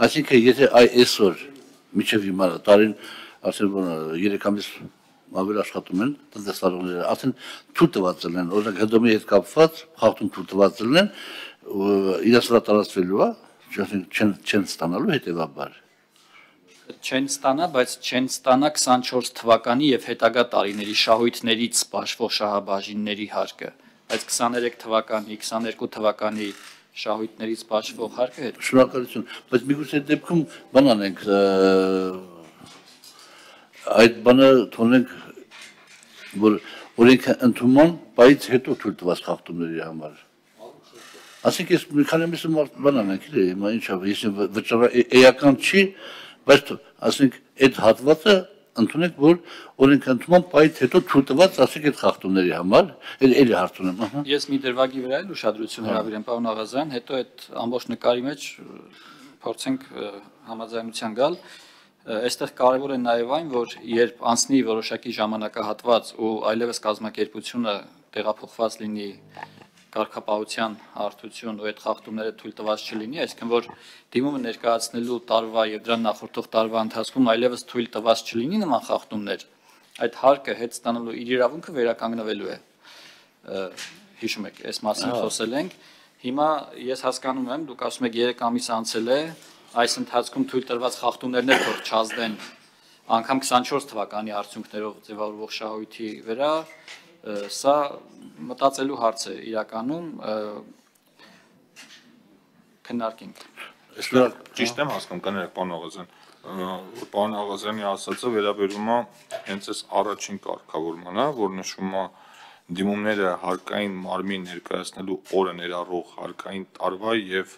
Այսինքն եթե այսօր միջև հիմա տարին ասել 3 ամիս ավելի աշխատում են տնտեսվարողները, ասեն թույլ տված են, օրինակ ՀԴՄ-ի հետ կապված խախտում թույլ տված են, իրաց վրա տարածվելու է, չեն ստանալու հետևաբար։ Չեն ստանա, բայց չեն ստանա 24 թվականի եւ հետագա տարիների շահույթներից բաշխող շահաբաժինների հարկը, բայց 23 թվականի, 22 թվականի շահույթներից բաշխող հարկը հետ։ Շնորհակալություն, բայց միգուցե դեպքում բան անենք, այդ բանը թողնենք, որ օրենքը ընդունման, բայց հետո թույլ տված խախտումների համար։ Ասենք ես մի քանի ամիս բան անենք, հիմա ինչա, ես վճարական չի, բայց ասենք այդ հատվածը ընդունենք, որ օրենքը ընդունման, բայց հետո թույլ տված, ասենք այդ խախտումների համար, էլի հարց ունեմ։ Ես մի դրվագի վրա էլ ուշադրություն հրավիրեմ, պարոն Աղազյան, հետո այդ ամբողջ նկարի մեջ փորձենք համաձայնության գալ։ Այստեղ կարևոր է նաև այն, որ երբ անցնի որոշակի ժամանակահատված ու այլևս կազմակերպությունը տեղափոխված լինի կարգապահության հարթություն ու այդ խախտումները թույլ տված չլինի, այսինքն որ դիմումը ներկայացնելու տարվա եւ դրան նախորդող տարվա ընթացքում այլևս թույլ տված չլինի նման խախտումներ, այդ հարկը հետ ստանալու իր իրավունքը վերականգնվելու է։ Հիշում եք, այս մասին խոսել ենք։ Հիմա ես հասկանում եմ, դուք ասում եք 3 ամիս անցել է, այս ընթացքում թույլ տրված խախտումներն էլ թող չազդեն անգամ 24 թվականի արդյունքներով ձևավորվող շահույթի վրա, սա մտածելու հարց է իրականում քննարկենք։ Ճիշտ եմ հասկանում, կներեք, պարոն Աղազյան, պարոն Աղազյանի ասածը վերաբերում է հենց այս առաջին կարգավորմանը, որ նշում է դիմումները հարկային մարմին ներկայացնելու օրը ներառող հարկային տարվա եւ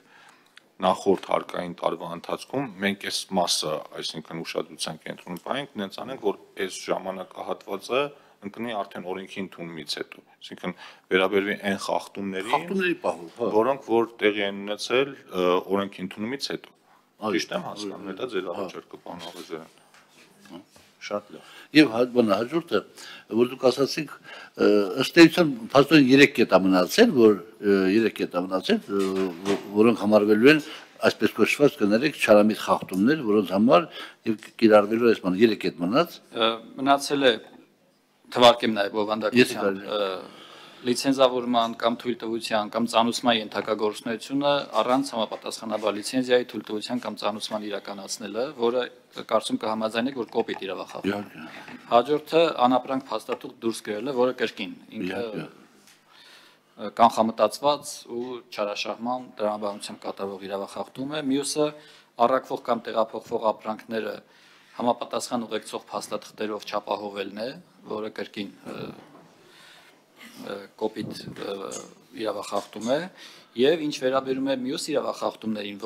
նախորդ հարկային տարվա ընթացքում մենք այս մասը, այսինքն ուշադրության կենտրոնում պահենք, նենց անենք, որ այս ժամանակահատվածը ընկնի արդեն օրենքի ընդունումից հետո, այսինքն վերաբերվի այն խախտումների պահով, որոնք որ տեղի են ունեցել օրենքի ընդունումից հետո։ Ճիշտ եմ հասկանում, դա ձեր առաջարկը, պարոն Աղազյան։ Շատ լավ։ Եվ հաջորդը, որ դուք ասացիք, ըստ էության փաստորեն 3 կետ է մնացել, որոնք համարվելու են այսպես կոչված կներեք չարամիտ խախտումներ, որոնց համար եւ կիրառվելու այս բանը 3 կետ մնաց։ Մնացել է թվարկեմ նաև բովանդակության լիցենզավորման կամ թույլտվության կամ ծանուցման ենթակա գործունեությունը առանց համապատասխանաբար լիցենզիայի թույլտվության կամ ծանուցման իրականացնելը, որը կարծում կհամաձայնեք, որ կոպիտ իրավախախտում։ Հաջորդը անապրանք փաստաթուղթ դուրս գրելը, որը կրկին ինքը կանխամտածված ու չարաշահման տրամաբանությամբ կատարվող իրավախախտում է։ Մյուսը առաքվող կամ տեղափոխվող ապրանքները համապատասխան ուղեկցող փաստաթղթերով չապահովելն է, որը կրկին կոպիտ իրավախախտում է, եւ ինչ վերաբերում է մյուս իրավախախտումներին,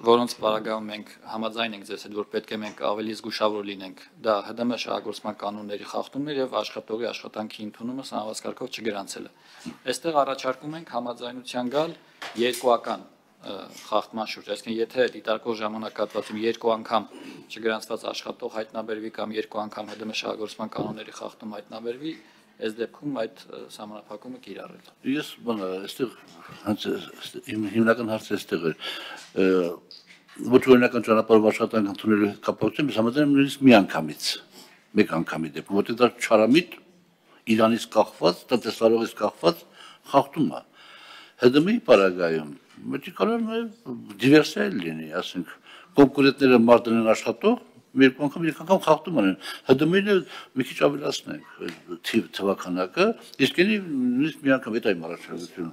որոնց պարագայում մենք համաձայն ենք ձեզ հետ, որ պետք է մենք ավելի զգուշավոր լինենք, դա ՀԴՄ շահագործման կանոնների խախտումն է եւ աշխատողի աշխատանքի ընդունումը սահմանված կարգով չգրանցելը։ Այստեղ առաջարկում ենք համաձայնության գալ երկուական խախտման շուրջ, այսինքն եթե դիտարկող ժամանակահատվածում 2 անգամ չգրանցված աշխատող հայտնաբերվի կամ 2 անգամ ՀԴՄ շահագործման կանոնների խախտում հայտնաբերվի, այս դեպքում այդ սահմանափակումը կիրառել։ Ես այստեղ հիմնական հարցը այստեղ է։ Ոչ օրինական ճանապարհով աշխատանք ընդունելու հետ կապակցությամբ ես համաձայն եմ նույնիսկ մի անգամից, մեկ անգամի դեպքում, որտեղ դա չարամիտ իրանից կախված, տնտեսվարողից կախված խախտում է։ ՀԴՄ-ի պարագայում մեկի կարող նաև դիվերսիա լինի, ասենք կոնկուրենտները մարտն են աշխատող, մեկ անգամ խախտում անեն։ ՀԴՄ-ին մի քիչ ավելացնենք թվականակը, իսկ նույնիսկ մի անգամ այդ այմ առաջարկությունը։